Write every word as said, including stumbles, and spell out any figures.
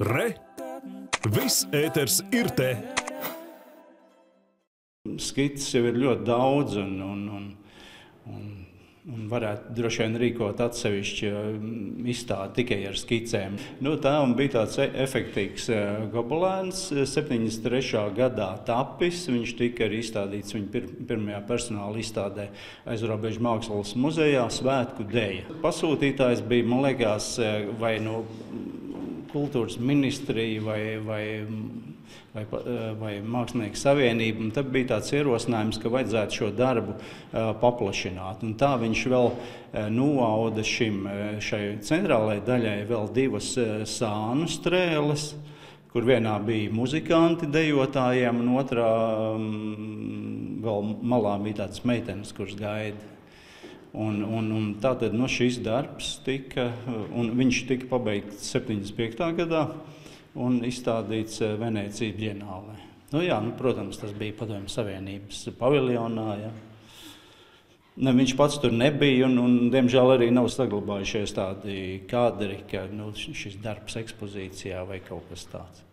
Re! Viss ēters ir te! Skices jau ir ļoti daudz, un, un, un, un, un varētu droši vien rīkot atsevišķu izstādi tikai ar skicēm. Nu, tā bija tāds efektīgs gobelēns, septiņdesmit trešā gadā tapis. Viņš tika arī izstādīts viņa pir, pirmajā personāla izstādē Aizrobežu mākslas muzejā Svētku deja. Pasūtītājs bija, man liekas, vai no kultūras ministrija vai, vai Vai, vai Mākslinieku savienība, un tad bija tāds ierosinājums, ka vajadzētu šo darbu uh, paplašināt. Un tā viņš vēl uh, novauda šim, šai centrālajai daļai vēl divas uh, sānu strēles, kur vienā bija muzikanti dejotājiem, un otrā um, vēl malā bija tādas meitenes, kuras gaida. Un, un, un tātad no šis darbs tika, un viņš tika pabeigts septiņdesmit piektā gadā, un izstādīts Venēcijas bienālē. Nu, jā, nu, protams, tas bija Padomju Savienības paviljonā. Ja. Ne, viņš pats tur nebija, un, un diemžēl arī nav saglabājušies tādi kadri, ka nu, šis darbs ekspozīcijā vai kaut kas tāds.